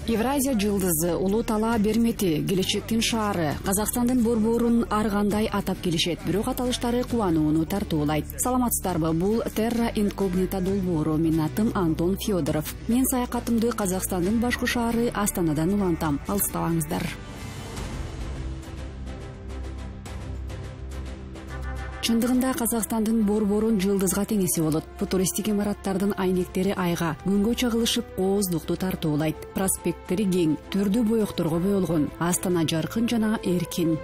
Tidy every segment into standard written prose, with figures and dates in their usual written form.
Евразия жылдызы, улуу талаа бермети, келечектин шаары, Казакстандын борборун ар кандай атап келишет, бирок аталыштары кубанууну тартуулайт. Саламатсыздарбы? Бул Terra Incognita долбоору. Менин атым Антон Федоров. Мен саякатымды Казакстандын башкы шаары Астанадан улантам. Алыстабаңыздар. Чындыгында Казакстандын борборун жылдызга теңеси болот. Футуристик имараттардын айнектери айга, күнгө чагылышып кооздукту тартуулайт. Проспекттери кең, түрдүү боекторго боелгон. Астана жаркын жана эркин.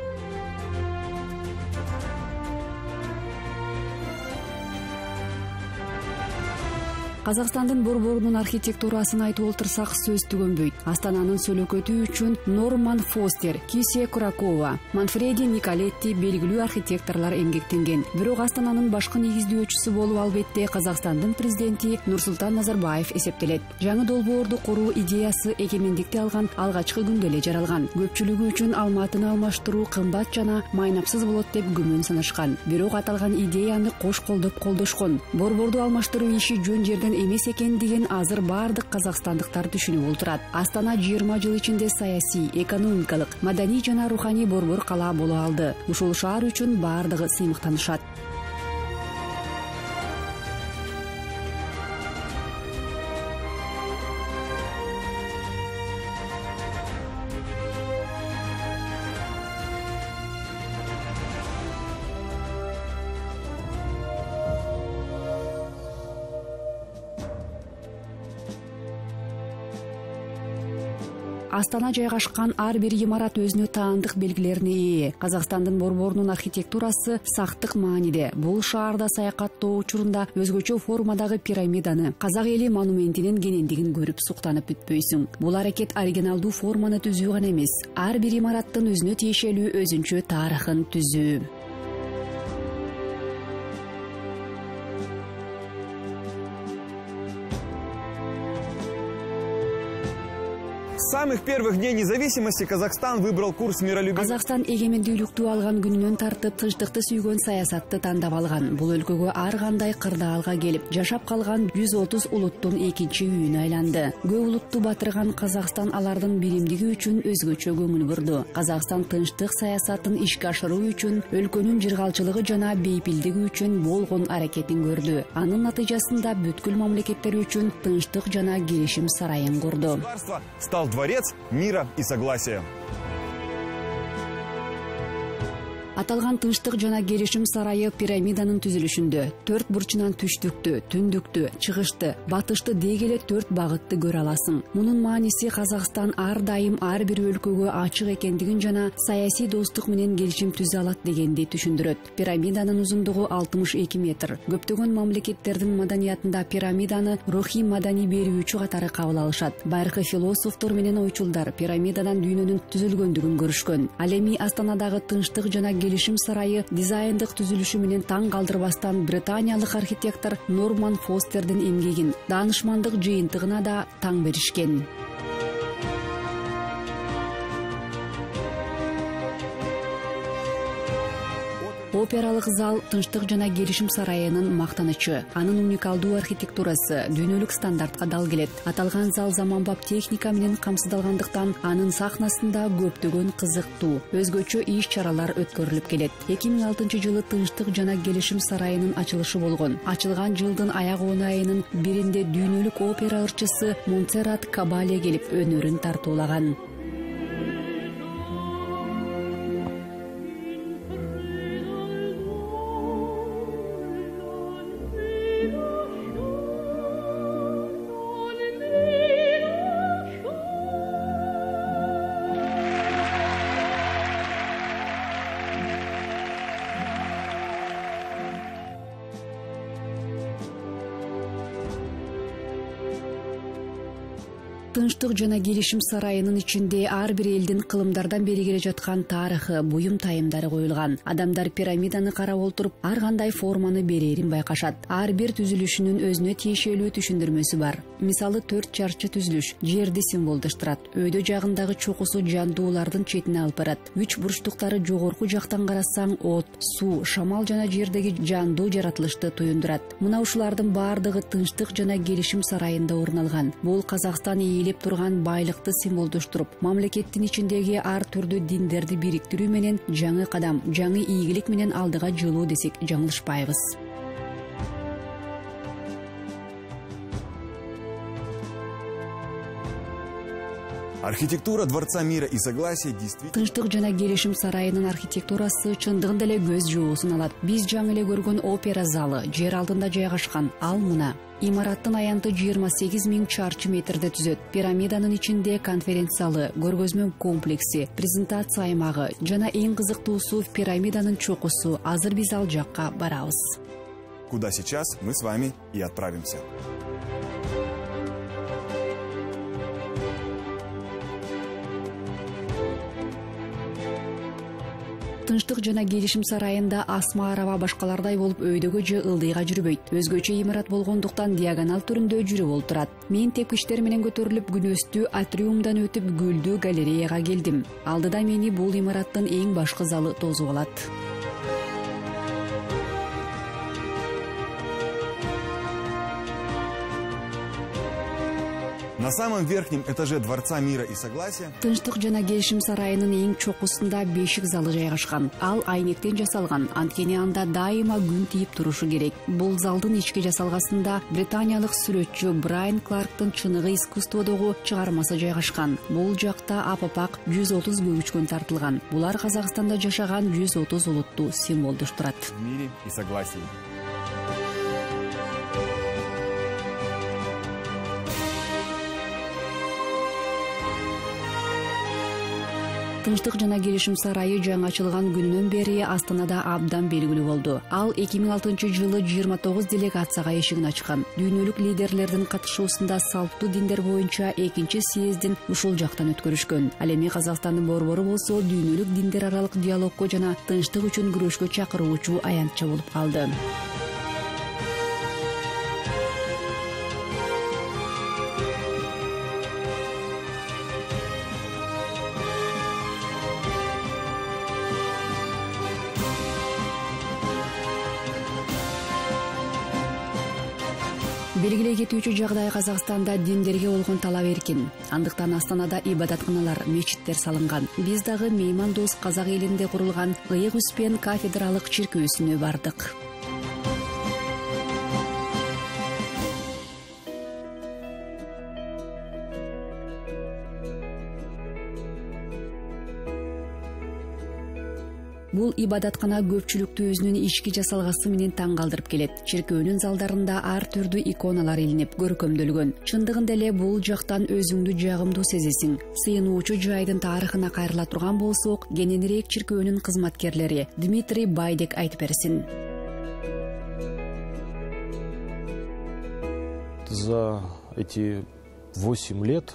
Казакстандын борборунун архитектурасын айтып олтурсак сөз түгөнбөйт. Астананын сөлөкөтү үчүн Норман Фостер, Кисия Куракова, Манфреди Николетти белгилүү архитекторлор эмгектенген. Бирок Астананын башкы негиздөөчүсү болуп албетте Казакстандын президенти Нурсултан Назарбаев эсептелет. Жаңы долбоорду куруу идеясы эгемендикти алган алгачкы күндө эле жаралган. Көпчүлүгү үчүн Алматыны алмаштыруу кымбат жана майнапсыз болот деп күмөн санашкан. Бирок аталган идеяны кош колдоп колдошкон. Борборду алмаштыруу иши жөн жерден эмес экендигин азыр баардык казакстандыктар түшүнүп отурат. Астана 20 жыл ичинде саясий, экономикалык, маданий жана руханий борбор кала боло алды. Ушул шаар үчүн баардыгы сыймыктанышат. Астана жайгашкан ар бир имарат өзүнө таандык белгилерине ээ. Казакстандын борборунун архитектурасы сактык мааниде. Бул шаарда саякаттоо учурунда өзгөчө формадагы пирамиданы, казак эли монументинин кенендигин көрүп суктанып бүтпөйсүң. Бул аракет оригиналдуу форманы түзүү гана эмес, ар бир имараттын өзүнө тиешелүү өзүнчө тарыхын түзүү. С самых первых дней независимости Казахстан выбрал курс миролюбия. Казакстан эгемендүүлүктү алган күнүнөн тартып тынчтыкты сүйгөн саясатты тандап алган. Бул өлкөгө ар кандай кырдаалга келип, жашап калган 130 улуттун экинчи үйүнө айланды. Көп улутту батырган Казакстан алардын биримдиги үчүн өзгөчө көңүл бурду. Казакстан тынчтык саясатын ишке ашыруу үчүн, өлкөнүн жыргалчылыгы жана бейпилдиги үчүн болгон аракетин көрдү. Анын натыйжасында бүткүл мамлекеттер үчүн тынчтык жана келишим сарайын курду. Стал дворец мира и согласия. Аталган тынчтык жана келишим сарайы пирамиданын түзүлүшүндө 4 бурчунан түштүктү, түндүктү, чыгышты, батышты деги эле 4 багытты көрө аласың. Мунун мааниси Казакстан ар дайым ар бир өлкөгө ачык экендигин жана саясий достук менен келишим түзө алат дегенди түшүндүрөт. Пирамиданын узундугу 62 метр. Көптөгөн мамлекеттердин маданиятында пирамиданы рухий маданий берүүчү катары кабыл алышат. Байыркы философтор менен ойчулдар пирамидадан дүйнөнүн түзүлгөндүгүн көрүшкөн. Ал эми Астанадагы тынчтык жана келишим сарайы дизайндык түзүлүшү менен таң калтырбастан британиялык архитектор Норман Фостердин эмгегин, даанышмандык жыйынтыгына да таң беришкен. Опералык зал тынчтык жана келишим сарайынын мактанычы. Анын уникалдуу архитектурасы дүйнөлүк стандартка дал келет. Аталган зал заманбап техника менен камсыздалгандыктан анын сахнасында көптөгөн кызыктуу, өзгөчө иш-чаралар өткөрүлүп келет. 2006 жылы тынчтык жана келишим сарайынын ачылышы болгон. Ачылган жылдын аяк оонайынын биринде дүйнөлүк опера ырчысы Монсеррат Кабале келип өнөрүн тартуулаган. Тынчтык жана келишим сарайынын ичинде ар бир элдин кылымдардан бери келе жаткан тарыхы, буюм тайымдары коюлган. Адамдар пирамиданы карап олтуруп, ар кандай форманы берерин байкашат. Ар бир түзүлүшүнүн өзүнө тиешелүү түшүндүрмөсү бар. Мисалы 4 чарчы түзүлүш жерди символдоштурат. Өйдө жагындагы чокусу жандуулардын четине алып барат. 3 бурчтуктары жогорку жактан карасаң от, суу, шамал жана жердеги жандуу жаратылышты туюндурат. Мына ушулардын баардыгы тынчтык жана келишим сарайында орун алган. Бул Казакстан ээлеп турган байлыкты символдоштуруп, мамлекеттин ичиндеги ар түрдүү диндерди бириктирүү менен жаңы кадам, жаңы ийгилик менен алдыга жылуу десек жаңылышпайбыз. Архитектура Дворца мира и согласия действительно... Тынчтык жана келишим сарайынын архитектурасы чындыгында эле көз жоосун алат. Биз жаңы эле көргөн опера залы жер алтында жайгашкан. Ал мына. Имараттын аянты 28 000 чарчы метрде түзөт. Пирамиданын ичинде конференция залы, көргөзмө комплекси, презентация аймагы жана эң кызыктуусу пирамиданын чокусу. Азыр биз ал жакка барабыз. Куда сейчас мы с вами и отправимся. Тынчтык жана келишим сарайында асма араба башкалардай болуп өйдөгө же ылдыйга жүрбөйт. Өзгөчө имарат болгондуктан диагонал түрүндө жүрүп олтурат. Мен тепкичтер менен көтөрүлүп күнөстүү атриумдан өтүп гүлдүү галереяга келдим. Алдыда мени бул имараттын эң башкы залы тосуп алат. На самом верхнем этаже Дворца мира и согласия Тынчтык жана келишим сарайынын эң чокусунда бешик залы жайгашкан. Ал айнектен жасалган, анткени анда дайыма күн тийип турушу керек. Бул залдын ички жасалгасында британиялык сүрөтчү Брайан Кларктын чыныгы искусстводогу чыгармасы жайгашкан. Бул жакта апапак 130 көгүчкөн тартылган. Булар Казакстанда жашаган 130 улутту символдоштурат. в мире и согласии. Тынчтык жана келишим сарайы жаңы ачылган күнүнөн бери Астанада абдан белгилүү болду. Ал 2006-жылы 29 делегацияга эшигин ачкан. Дүйнөлүк лидерлердин катышуусунда салттуу диндер боюнча 2-съездин ушул жактан өткөрүшкөн. Ал эми Казакстандын борбору болсо дүйнөлүк диндер аралык диалогко жана тынчтык үчүн күрөшкө чакыруучу аянтча болуп калды. Белгилей кетүүчү жагдай Казакстанда диндерге болгон талап эркин. Андыктан Астанада ибадатканалар, мечиттер салынган. Биз дагы меймандос казак элинде курулган Ыйык Успен кафедралык чиркөөсүнө бардык. Бул ибадаткана көпчүлүктү өзүнүн ички жасалгасы менен таң калтырып келет. Чиркөөнүн залдарында ар түрдүү иконалар илинип, көркөмдөлгөн. Чындыгында эле бул жактан өзүңдү жагымдуу сезесиң. Сыйынуучу жайдын тарыхына кайрыла турган болсок, кененирээк чиркөөнүн кызматкерлери Дмитрий Байдек айтып берсин. За эти 8 лет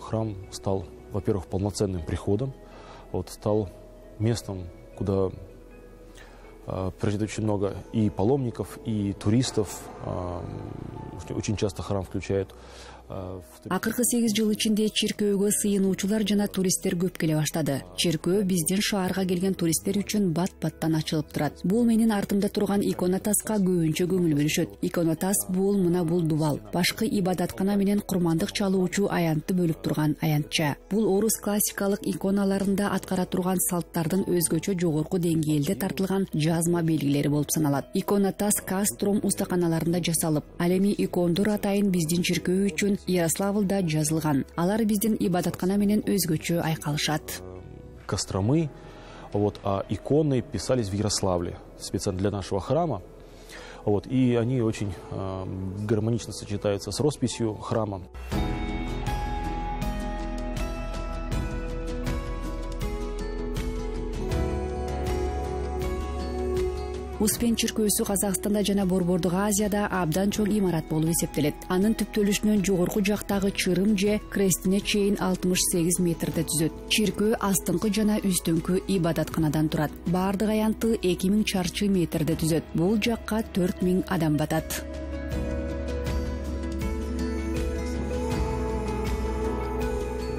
храм стал, во-первых, полноценным приходом, стал местом, куда приезжает очень много и паломников, и туристов. Очень часто храм включает. Акыркы 8 жыл ичинде чиркөөгө сыйынуучулар жана туристтер көп келе баштады. Чиркөө биздин шаарга келген туристтер үчүн бат-баттан ачылып турат. Бул менин артымда турган иконотаска көбүнчө көңүл бөлүшөт. Иконотас бул мына бул дубал. Башкы ибадаткана менен курмандык чалуучу аянтты бөлүп турган аянтча. Бул орус классикалык иконаларында аткара турган салттардын өзгөчө жогорку деңгээлде тартылган жазма белгилери болуп саналат. Иконотас Кастром устаканаларында жасалып, ал эми икондор атайын биздин чиркөө үчүн Ярославлда жазылган. Алар биздин ибадаткана менен өзгөчө айкалышат. Костромы, а иконы писались в Ярославле специально для нашего храма. И они очень гармонично сочетаются с росписью храма. Успен чиркөөсү Казакстанда жана Борбордук Азияда абдан чоң имарат болуп эсептелет. Анын түптөлүшүнөн жогорку жактагы чырым же крестине чейин 68 метрде түзөт. Чиркөө астыңкы жана үстүңкү ибадатканадан турат. Бардык аянты 2000 чарчы метрде түзөт. Бул жакка 4000 адам батат.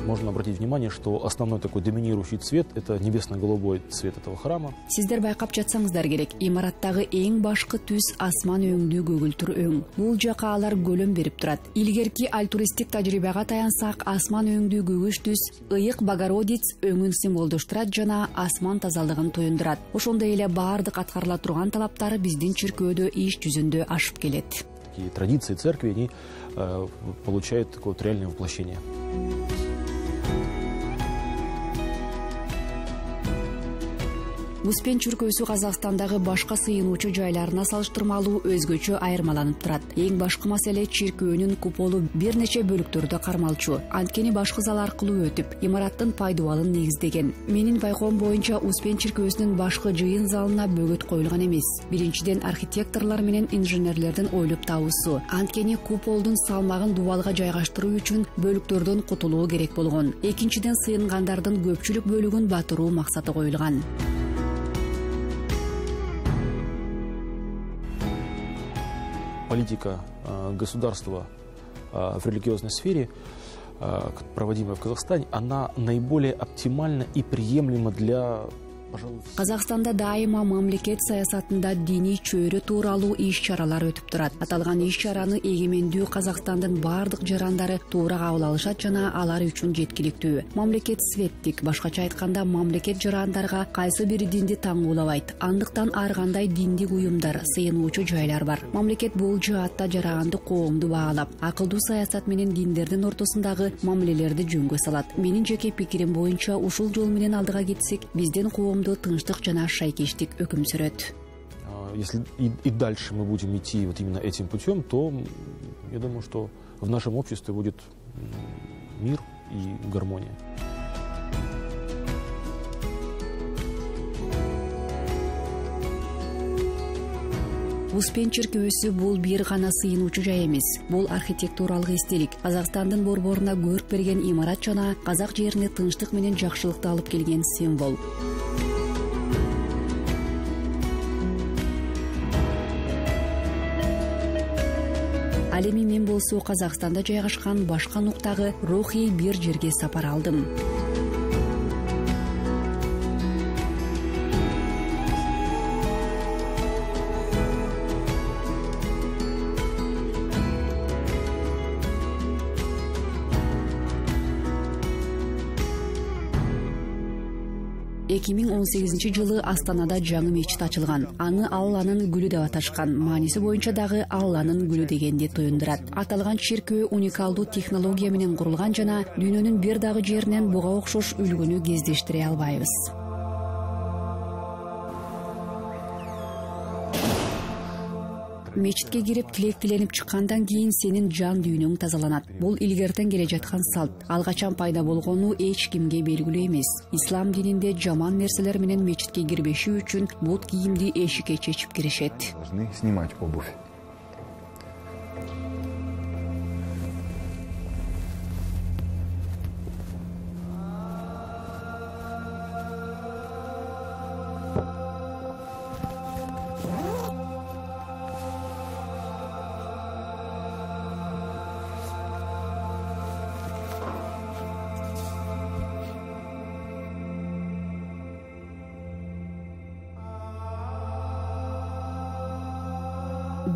можно обратить внимание, что основной такой доминирующий цвет – это небесно-голубой цвет этого храма. Сиздер байкап жатсаңыздар керек, имараттагы эң башкы түс асман өңдүү көгүлтүр өң. Бул жака алар көлөм берип турат. Илгерки альтуристтик тажрыйбага таянсак, асман өңдүү көгүш түс ыйык Богородиц өңүн символдоштурат жана асман тазалыгын туюндурат. Ошондой эле баардык аткарыла турган талаптар биздин чиркөөдө иш жүзүндө ашып келет. Такие традиции церкви, они получают такое вот реальное воплощение. Успен чүркөөсү Казакстандагы башка сыйынуучу жайларына салыштырмалуу өзгөчө айырмаланып турат. Эң башкы маселе чиркөөнүн куполу бир нече бөлүктөрдө кармалчу. Анткени башкы зал аркылуу өтүп, имараттын пайдубалын негиздеген. Менин байкоом боюнча Успен чиркөөсүнүн башкы жыйын залына бөгөт коюлган эмес. Биринчиден, архитекторлор менен инженерлердин ойлоп табуусу. Анткени куполдун салмагын дубалга жайгаштыруу үчүн бөлүктөрдөн кутулуу керек болгон. Экинчиден, сыйынгандардын көпчүлүк бөлүгүн батыруу максаты коюлган. Политика государства в религиозной сфере, проводимая в Казахстане, она наиболее оптимальна и приемлема для, пожалуй, Казакстанда дайыма мамлекет саясатында диний чөйрө тууралуу иш-чаралар өтүп турат. Аталган иш-чараны эгемендүү Казакстандын бардык жарандары туура кабыл алышат жана алар үчүн жеткиликтүү. Мамлекет светтик, башкача айтканда, мамлекет жарандарга кайсы бир динди таңгуулабайт. Андыктан ар кандай диндик уюмдар, сыйынуучу жайлар бар. Мамлекет бул жаатта жаранды коомду баалап, акылдуу саясат менен диндердин ортосундагы мамилелерди жөнгө салат. Менин жеке пикирим боюнча, ушул жол менен алдыга кетсек, биздин коомду тынчтык жана шайкештик өкүм сүрөт. Если и дальше мы будем идти вот именно этим путем, то я думаю, что в нашем обществе будет мир и гармония. Успен чиркөөсү бул бир гана сыйынуучу жай эмес. Бул архитектуралык эстелик. Казакстандын борборуна көрк берген имарат жана казак жерине тынчтык менен жакшылыкты алып келген символ. Ал эми мен болсо Казакстанда жайгашкан башка нуктагы рухий бир жерге сапар алдым. Эки миң 18-жылы Астанада жаңы мечит ачылган. Аны Алланын гүлү деп аташкан. Мааниси боюнча дагы Алланын гүлү дегенди туюндурат. Аталган чиркөө уникалдуу технология менен курулган жана дүйнөнүн бир дагы жеринен буга окшош үлгүнү кездештире албайбыз. Мечитке кирип тилек тиленип чыккандан кийин сенин жан дүйнөң тазаланат. Бул илгертен келе жаткан салт. Ал качан пайда болгону эч кимге белгилүү эмес. Ислам дининде жаман нерселер менен мечитке кирбеши үчүн бут кийимди эшикке чечип киришет. Должны снимать обувь.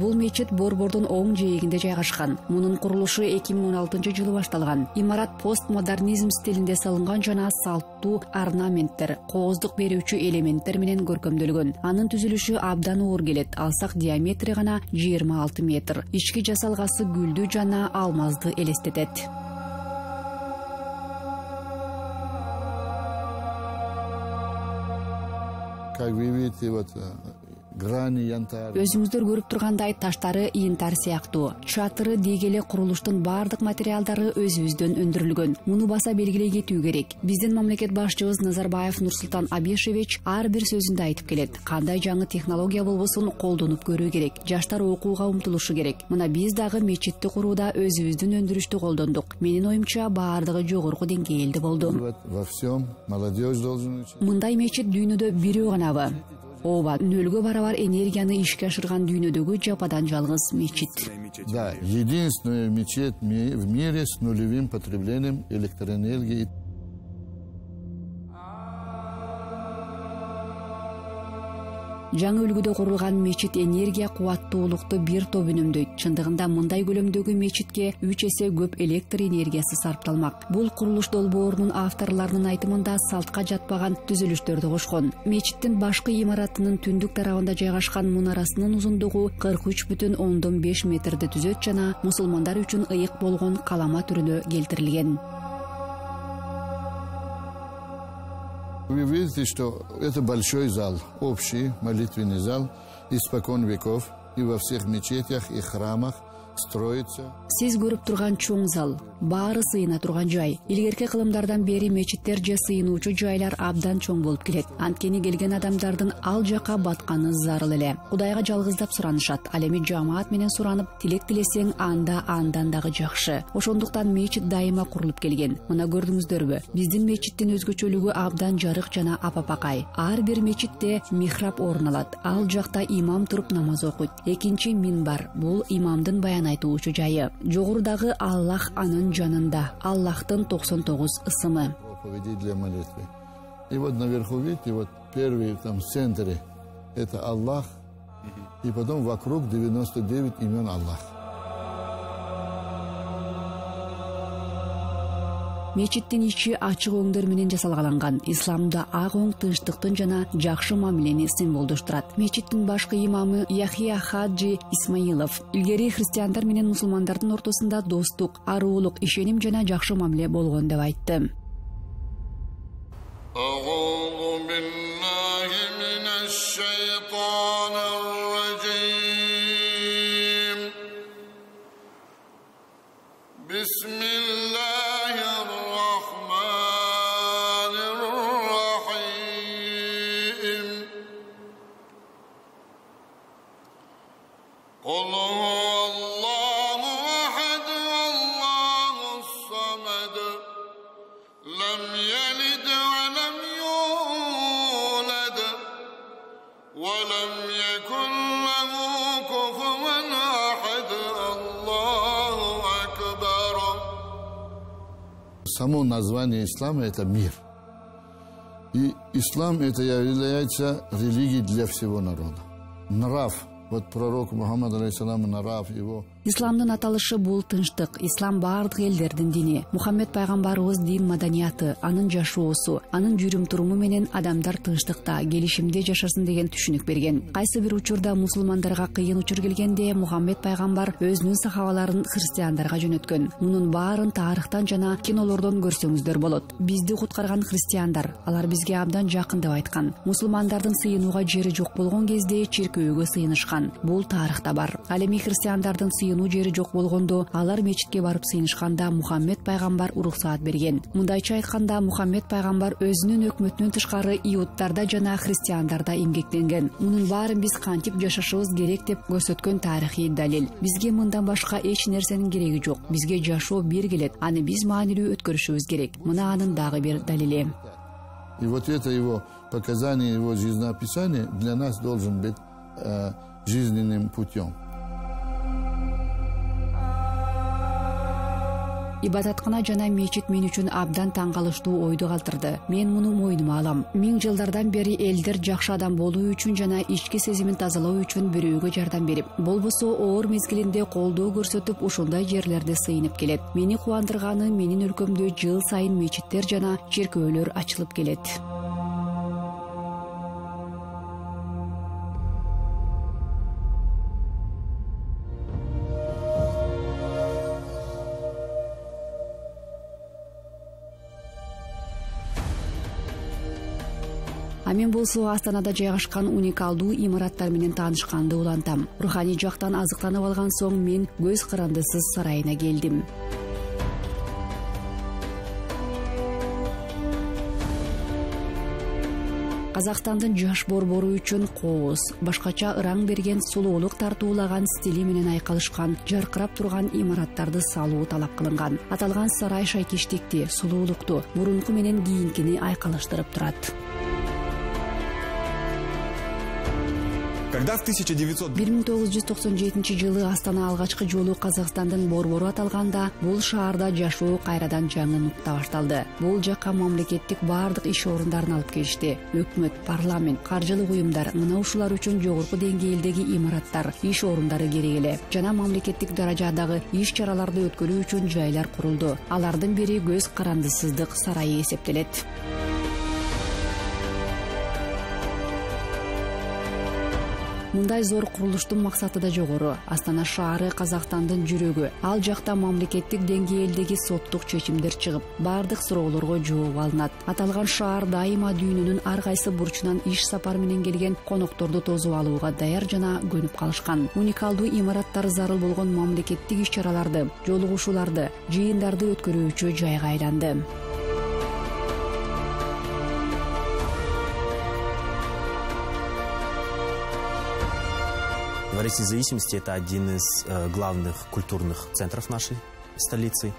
Бул мечит борбордун оң жээгинде жайгашкан. Мунун курулушу 2016-жылы башталган. Имарат постмодернизм стилинде салынган жана салттуу орнаменттер, кооздук берүүчү элементтер менен көркөмдөлгөн. Анын түзүлүшү абдан оор келет. Алсак диаметри гана 26 метр. Ички жасалгасы гүлдү жана алмазды элестетет. Как вы видите, вот грани янтарь. Өзүңүздөр көрүп тургандай таштары янтарь сыяктуу. Чатыры дегеле курулуштун бардык материалдары өзүбүздөн өндүрүлгөн. Муну баса белгилей кетүү керек. Биздин мамлекет башчыбыз Назарбаев Нурсултан Абишевич ар бир сөзүндө айтып келет. Кандай жаңы технология болбосун колдонуп көрүү керек. Жаштар окууга умтулушу керек. Мына биз дагы мечитти курууда өзүбүздүн өндүрүштү колдондук. Менин оюмча баардыгы жогорку деңгээлде болду. Во всем молодежь должен учить. Мындай мечит дүйнөдө бирөө ганабы? ооба, нөлгө барабар энергияны ишке ашырган дүйнөдөгү жападан жалгыз мечит. Да, единственная мечеть в мире с нулевым потреблением электроэнергии. Жаңы үлгүдө курулган мечит энергия кубаттуулукту бир топ үнөмдөйт. Чындыгында мындай көлөмдөгү мечитке 3 эсе көп электр энергиясы сарпталмак. Бул курулуш долбоорунун авторларынын айтымында салтка жатпаган түзүлүштөрдү кошкон. Мечиттин башкы имаратынын түндүк тарабында жайгашкан мунарасынын узундугу 43,5 метрди түзөт жана мусулмандар үчүн ыйык болгон калама түрүнө келтирилген. Вы видите, что это большой зал, общий молитвенный зал, испокон веков, и во всех мечетях и храмах строится. Сиз көрүп турган чоң зал, баары сыйына турган жай. Илгерки кылымдардан бери мечиттер же сыйынуучу жайлар абдан чоң болуп келет. Анткени келген адамдардын ал жака батканы зарыл эле. Кудайга жалгыздап суранышат. Ал эми жамаат менен суранып, тилек тилесең анда андан дагы жакшы. Ошондуктан мечит дайыма курулуп келген. Мына көрдүңүздөрбү? Биздин мечиттин өзгөчөлүгү абдан жарык жана апапакай. Ар бир мечитте михраб орун алат. Ал жакта имам туруп намаз окуйт. Экинчи минбар. Бул имамдын баян айтуучу жайы. Жогорудагы Аллах анын жанында. Аллахтын 99 ысымы. Проповеди для молитвы. И вот наверху, видите, вот первый там в центре это Аллах, и потом вокруг 99 имен Аллах. Мечиттин ичи ачык өңдөр менен жасалгаланган. Исламда ак өң тынчтыктын жана жакшы мамилени символдоштурат. Мечиттин башкы имамы Яхия Хаджи Исмаилов илгери христиандар менен мусулмандардын ортосунда достук, аруулук, ишеним жана жакшы мамиле болгон деп айтты. Само название ислама – это мир. И ислам – это является религией для всего народа. Нрав. Вот пророк Мухаммад, алейхиссалам, нрав его. Исламдын аталышы бул тынчтык. Ислам бардык элдердин дини. Мухаммед пайгамбарыбыз дин маданияты, анын жашоосу, анын жүрүм туруму менен адамдар тынчтыкта, келишимде жашасын деген түшүнүк берген. Кайсы бир учурда мусулмандарга кыйын учур келгенде Мухаммед пайгамбар өзүнүн сахабаларын христиандарга жөнөткөн. Мунун баарын тарыхтан жана кинолордон көрсөңүздөр болот. Бизди куткарган христиандар, алар бизге абдан жакын деп айткан. Мусулмандардын сыйынууга жери жок болгон кезде чиркөөгө сыйынышкан. Бул тарыхта бар. Ал эми христиандардын сыйынуу жери жок болгондо алар мечитке барып сыйынышканда Мухаммед пайгамбар уруксаат берген. Мындайча айтканда Мухаммед пайгамбар өзүнүн өкмөтүнөн тышкары иудтарда жана христиандарда эмгектенген. Мунун баарын биз кантип жашашыбыз керек деп көрсөткөн тарыхый далил. Бизге мындан башка эч нерсенин кереги жок. Бизге жашоо бир келет. Аны биз маанилүү өткөрүшүбүз керек. Мына анын дагы бир далили. И вот это его показание, его жизнеописание для нас должен быть жизненным путем. Ибадаткана жана мечит мен үчүн абдан таң калыштуу ойду калтырды. Мен муну мойнума алам. 1000 жылдардан бери элдер жакшы адам болуу үчүн жана ички сезимин тазалоо үчүн бирөөгө жардам берип, болбосо оор мезгилинде колдоо көрсөтүп ушундай жерлерде сыйынып келет. Мени кубандырганы менин өлкөмдө жыл сайын мечиттер жана чиркөөлөр ачылып келет. Мен болсо Астанада жайгашкан уникалдуу имараттар менен таанышканды улантам. Руханий жактан азыктанып алган соң мен көз карандысыз сарайына келдим. Казакстандын жаш борбору үчүн кооз, башкача ыран берген сулуулук тартуулаган стили менен айкалышкан, жаркырап турган имараттарды салуу талап кылынган. Аталган сарай шайкиштикти, сулуулукту, мурунку менен кийинкини айкалыштырып турат. Когда в 1997 жылы Астана алгачкы жолу Казакстандын борбору аталганда, бул шаарда жашоо кайрадан жаңы нукта башталды. Бул жакка мамлекеттик бардык иш орундарын алып келишти. Өкмөт, парламент, каржылык уюмдар мына ушулар үчүн жогорку деңгээлдеги имараттар, иш орундары керек эле. Жана мамлекеттик даражадагы иш чараларды өткөрүү үчүн жайлар курулду. Алардын бири Көз карандысыздык сарайы эсептелет. Мындай зор курулуштун максаты да жогору. Астана шаары Казакстандын жүрөгү. Ал жакта мамлекеттик деңгээлдеги соттук чечимдер чыгып, бардык суроолорго жооп алынат. Аталган шаар дайыма дүйнөнүн ар кайсы бурчунан иш сапар менен келген конокторду тосуп алууга даяр жана көнүп калышкан. Уникалдуу имараттар зарыл болгон мамлекеттик иш чараларды, жолугушууларды, жыйындарды өткөрүүчү жайга айланды. Дворец независимости — это один из главных культурных центров нашей столицы.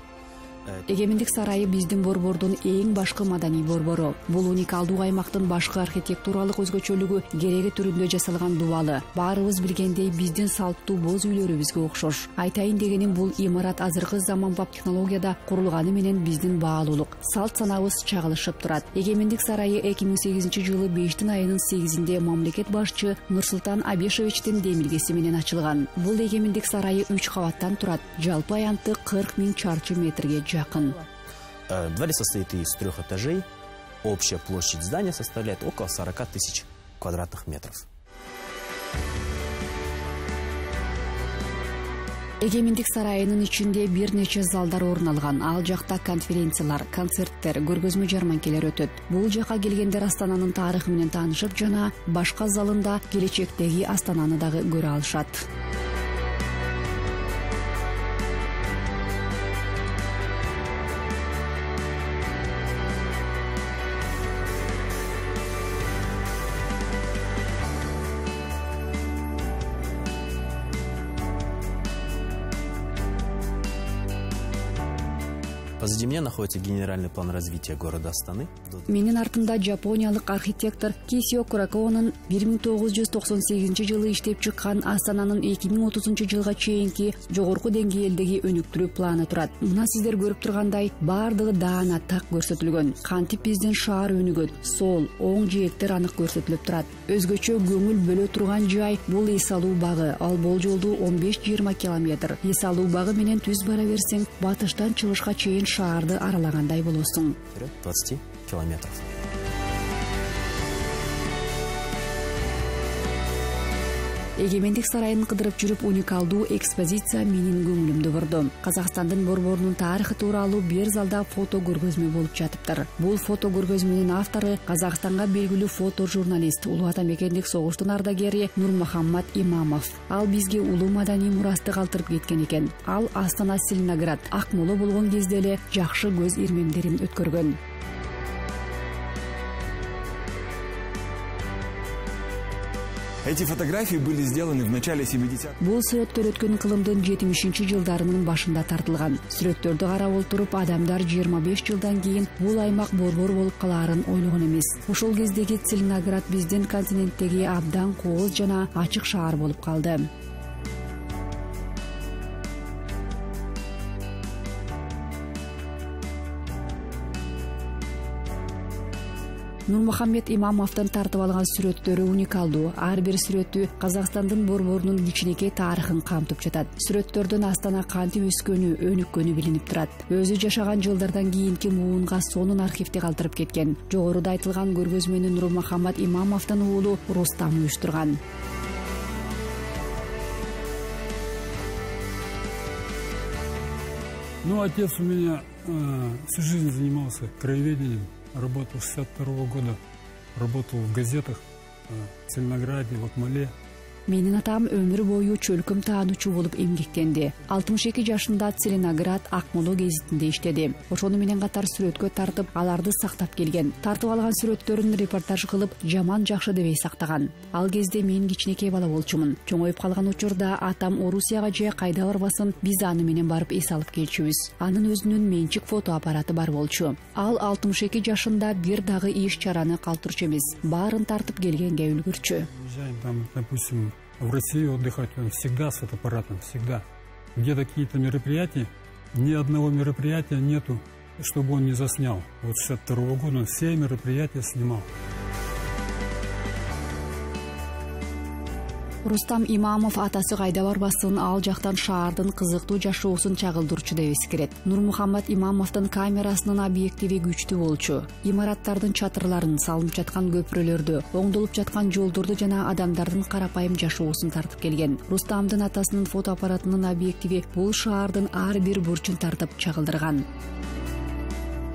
Эгемендик сарайы биздин борбордун эң башкы маданий борбору. Бул уникалдуу аймактын башкы архитектуралык өзгөчөлүгү кереги түрүндө жасалган дубалы. Баарыбыз билгендей, биздин салттуу боз үйлөрүбүзгө окшош. Айтайын дегеним, бул имарат азыркы заманбап технологияда курулганы менен биздин баалуулук, салт санабыз чагылышып турат. Эгемендик сарайы 2008 жылы 5 айынын 8-inde мамлекет башчы Нурсултан Абишевичтин демилгеси менен ачылган. Бул эгемендик сарайы 3 кабаттан турат. Жалпы аянты 40 000 чарчы метрге жақын. Дворец состоит из 3 этажей. Общая площадь здания составляет около 40 000 квадратных метров. Эгемендик сарайынын ичинде бир нече залдар орун алган. Ал жакта конференциялар, концерттер, көргөзмө жарманкелер өтөт. Бул жака келгендер Астананын тарыхы менен таанышып жана башка залында келечектеги Астананы дагы көрө алышат. Позади меня находится генеральный план развития города Астаны. Менин артымда жапониялык архитектор Кисио Куракованын 1998 жылы иштеп чыккан Астананын 2030 жылга чейинки жогорку деңгээлдеги өнүктүрүү планы турат. Мына сиздер көрүп тургандай, бардыгы даана так көрсөтүлгөн. Кантип биздин шаар өнүгөт, сол, оң жээктер анык көрсөтүлүп турат. Өзгөчө көңүл бөлө турган жай бул Исалуу багы. Ал болжолдуу 15-20 километр. Исалуу багы менен түз бара берсең, батыштан чыгышка чейин шаарды аралагандай болосуң. 20 километров. Эгемендик сарайын кыдырып жүрүп, уникалдуу экспозиция менин көңүлүмдү бурду. Казакстандын борборунун тарыхы тууралуу бир залда фото көргөзмө болуп жатыптыр. Бул фото көргөзмөнүн автору Казакстанга белгилүү фото-журналист, улуу атамекендик согуштун ардагери Нурмухаммад Имамов. Ал бизге улуу маданий мурасты калтырып кеткен экен. Ал Астана, Целиноград, Акмола болгон кезде эле жакшы көз ирмемдерин өткөргөн. Эти фотографии были сделаны в начале 70-х. Бул сүрөттөр өткөн кылымдын 70-жылдарынын башында тартылган. Сүрөттөрдү карап отуруп, адамдар 25 жылдан кийин бул аймак борбор болуп калаарын ойлогон эмес. Ошол кездеги Целиноград биздин континенттеги абдан кооз жана ачык шаар болуп калды. Нурмухаммед Имамовдун тартып алган сүрөттөрү уникалдуу. Ар бир сүрөтү Казакстандын борборунун кичинекей тарыхын камтып жатат. Сүрөттөрдөн Астана кантип өскөнү, өнүккөнү билинип турат. Өзү жашаган жылдардан кийинки муунга сонун архивде калтырып кеткен. Жогоруда айтылган көргөзмөнү Нурмухаммед Имамовдун уулу Рустам уюштурган. Отец у меня всю жизнь занимался краеведением. Работал с 62 года, работал в газетах в Целинограде, в Акмоле. Менин атам өмүр бою чөлкөм таануучу болуп эмгектенди. 62 жашында Целиноград Акмола гезитинде иштеди. Ошону менен катар сүрөткө тартып, аларды сактап келген. Тартып алган сүрөттөрүн репортаж кылып, жаман жакшы дебей сактаган. Ал кезде мен кичинекей бала болчумун. Чоңоюп калган учурда атам Орусияга же кайда барбасын, биз аны менен барып эс алып келчүбүз. Анын өзүнүн менчик фото аппараты бар болчу. Ал 62 жашында бир дагы иш чараны калтырчу эмес. Баарын тартып келгенге үлгүрчү. Там, допустим, в Россию отдыхать, он всегда с фотоаппаратом, всегда. Где какие-то мероприятия, ни одного мероприятия нету, чтобы он не заснял. Вот с 62 года он все мероприятия снимал. Рустам Имамов атасы кайда барбасын, ал жактан шаардын кызыктуу жашоосун чагылдырчу деп эскерет. Нурмухаммад Имамовдун камерасынын объективи күчтүү болчу. Имараттардын чатырларын, салынып жаткан көпүрөлөрдү, оңдолуп жаткан жолдорду жана адамдардын карапайым жашоосун тартып келген. Рустамдын атасынын фотоаппаратынын объективи бул шаардын ар бир бурчун тартып чагылдырган.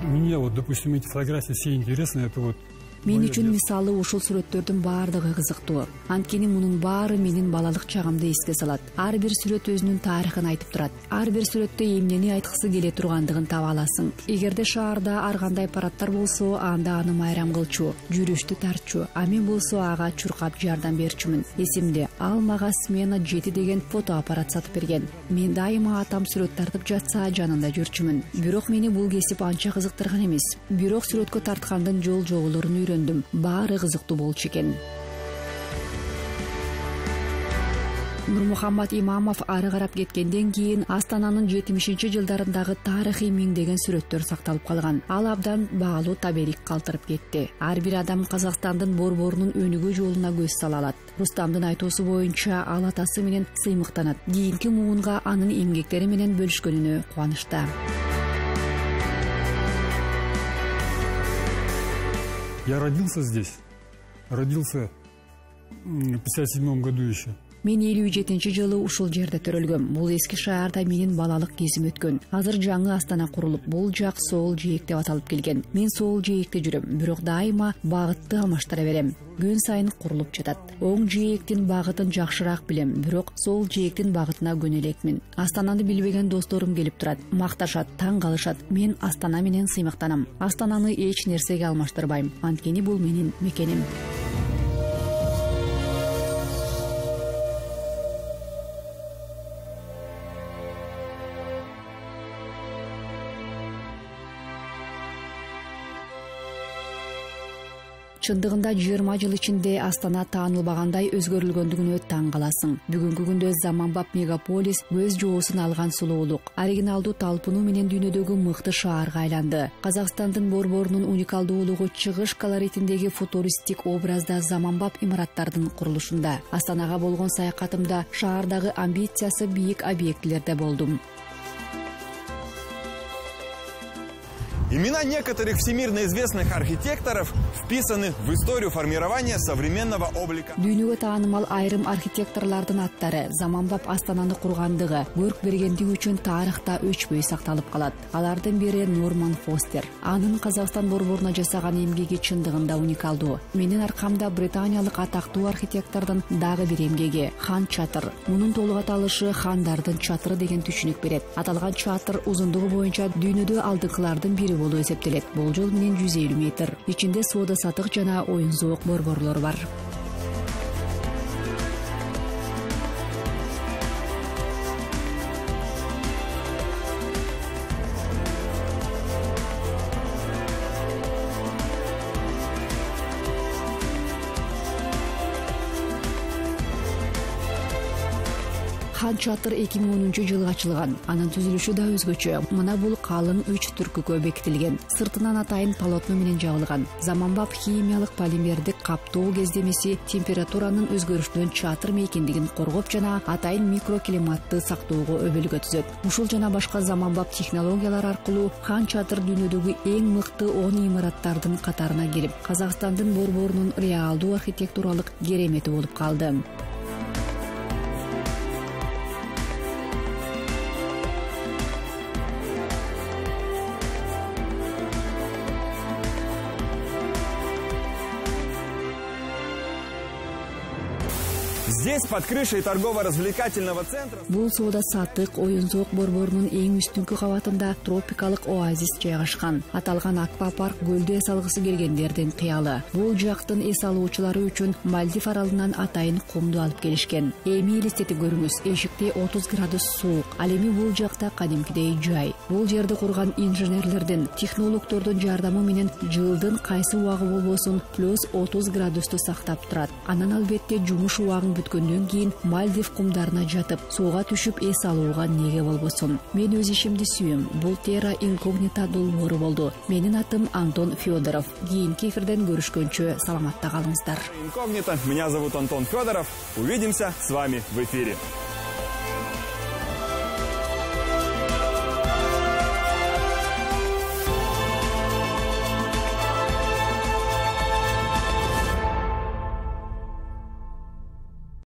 Мне вот, допустим, эти фотографии все интересны, это вот. Мен үчүн мисалы ушул сүрөттөрдүн баардыгы кызыктуу. Анткени мунун баары менин балалык чагымды эске салат. Ар бир сүрөт өзүнүн тарыхын айтып турат. Ар бир сүрөттө эмнени айткысы келе тургандыгын таба аласың. Эгерде шаарда ар кандай аппараттар болсо, анда аны майрам кылчу, жүрүштү тартчу, а мен болсо ага чуркап жардам берчүмүн. Эсимде, ал мага Смена 7 деген фотоаппарат сатып берген. Мен дайыма атам сүрөт тартып жатса жанында жүрчүмүн. Бирок мени бул кесип анча кызыктырган эмес. Бирок сүрөткө тарткандын жол жоболорун баары кызыктуу болчу экен. Нурмухаммад Имамов ары карап кеткенден кийин Астананын 70-жылдарындагы тарыхый миңдеген сүрөттөр сакталып калган. Ал абдан баалуу табелик калтырып кетти. Ар бир адам Казакстандын борборунун өнүгүү жолуна көз сала алат. Рустамдын айтуусу боюнча, ал атасы менен сыймыктанат. Кийинки муунга анын эмгектери менен бөлүшкөнүнө кубанычта. Я родился здесь. Родился в 57 году еще. Мен 57-жылы ушул жерде төрөлгөм. Бул эски шаарда менин балалык кезим өткөн. Азыр жаңы Астана курулуп, бул жак Сол жээк деп аталып келген. Мен Сол жээкте жүрөм, бирок дайыма багытты алмаштыра берем. Күн сайын курулуп жатат. Оң жээктин багытын жакшыраак билем, бирок Сол жээктин багытына көнө элекмин. Астананы билбеген досторум келип турат, макташат, таң калышат. Мен Астана менен сыймыктанам. Астананы эч нерсеге алмаштырбайм. Анткени бул менин мекеним. Чындыгында 20 жыл ичинде Астана таанылбагандай өзгөрүлгөндүгүнө таң каласың. Бүгүнкү күндө заманбап мегаполис көз жоосун алган сулуулук, оригиналдуу талпынуу менен дүйнөдөгү мыкты шаарга айланды. Казакстандын борборунун уникалдуулугу чыгыш колоритиндеги футуристик образда заманбап имараттардын курулушунда. Астанага болгон саякатымда шаардагы амбициясы бийик объектилерде болдум. Имена некоторых всемирно известных архитекторов вписаны в историю формирования современного облика. Дүйнөгө таанымал айрым архитекторлордун аттары заманбап Астананы кургандыгы, көрк бергендиги үчүн тарыхта өчпөй сакталып калат. Алардын бири Норман Фостер. Анын Казакстан борборуна жасаган эмгеги чындыгында уникалдуу. Менин аркамда британиялык атактуу архитектордун дагы бир эмгеги Хан Чатыр. Мунун толук аталышы Хандардын чатыры деген түшүнүк берет. Аталган чатыр узундугу боюнча дүйнөдө алдыңкылардын бири болуп эсептелет. Болжол менен 150 метр. Ичинде соода сатык жана оюн зоок борборлор бар. Хан Чатыр 2010-жылы ачылган. Анын түзүлүшү да өзгөчө. Мына бул калың 3 түркүккө бекитилген. Сыртынан атайын полотно менен жабылган. Заманбап химиялык полимердик каптоо кездемеси температуранын өзгөрүшүнөн чатыр мейкиндигин коргоп жана атайын микроклиматты сактоого өбөлгө түзөт. Ушул жана башка заманбап технологиялар аркылуу Хан Чатыр дүйнөдөгү эң мыкты 10 имараттардын катарына кирип, Казакстандын борборунун реалдуу архитектуралык керемети болуп калды. Здесь, под крышей торгово-развлекательного центра... Бул соода-саттык оюн-зоок борборунун эң үстүнкү кабатында тропикалык оазис жайгашкан. Аталган аквапарк көлдө эс алгысы келгендердин кыялы. Бул жактын эс алуучулары үчүн Мальдив аралынан атайын кумду алып келишкен. Эми элестетип көрүңүз, эшикте 30 градус суук. Ал эми бул жакта кадимкидей жай. Бул жерди курган инженерлердин, технологдордун жардамы менен жылдын кайсы убагы болбосун плюс 30 градусту сактап турат. Анан албетте жумуш убагын бүткөндөн кийин Мальдив кумдарына жатып, сууга түшүп эс алууга неге болбосун. Мен өз ишимди сүйөм. Бул Terra Incognita долбоору болду. Менин атым Антон Федоров. Кийинки эфирден көрүшкөнчө саламатта калыңыздар. Инкогнито. Меня зовут Антон Федоров. Увидимся с вами в эфире.